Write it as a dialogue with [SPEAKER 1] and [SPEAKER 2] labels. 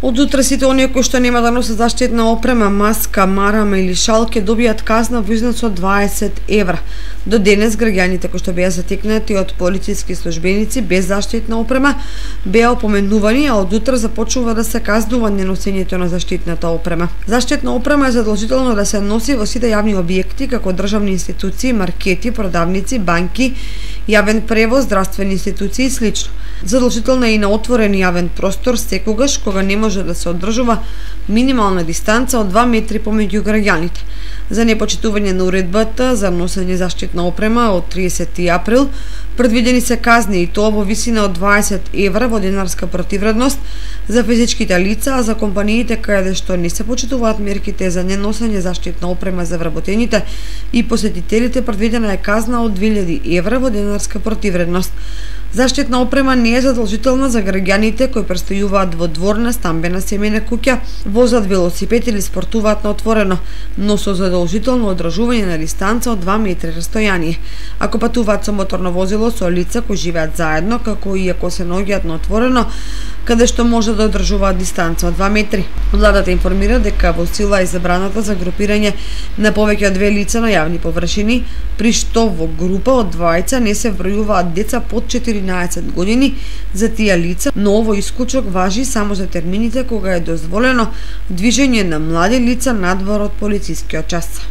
[SPEAKER 1] Од утре сите оние кои што нема да носат заштитна опрема, маска, марама или шал ќе добијат казна во износ од 20 евра. До денес граѓаните кои што беа затекнати од полициски службеници без заштитна опрема беа опоменувани, а од утре започнува да се казнува неносењето на заштитната опрема. Заштитна опрема е задолжително да се носи во сите јавни објекти како државни институции, маркети, продавници, банки, јавен превоз, здравствени институции и слично. Задолжително е и на отворен јавен простор секогаш кога не може да се одржува минимална дистанца од 2 метри помеѓу граѓаните. За непочитување на уредбата за носење заштитна опрема од 30 април предвидени се казни и тоа во висина од 20 евра во денарска противредност за физичките лица, а за компаниите каде што не се почитуваат мерките за неносење заштитна опрема за вработените и посетителите предвидена е казна од 2000 евра во денарска противредност. Заштитна опрема не е задолжителна за граѓаните кои престојуваат во дворна, стамбена, семејна куќа, возат велосипед или спортуваат на отворено, но со задолжително одржување на дистанца од 2 метри растојание. Ако патуваат со моторно возило со лица кои живеат заедно, како и ако се наоѓаат на отворено, каде што може да одржуваат дистанца од 2 метри. Владата информира дека во сила е забраната за групирање на повеќе од 2 лица на јавни површини, при што во група од двајца не се вбројуваат деца под 14 години за тие лица, но овој исклучок важи само за термините кога е дозволено движење на млади лица надвор од полицискиот час.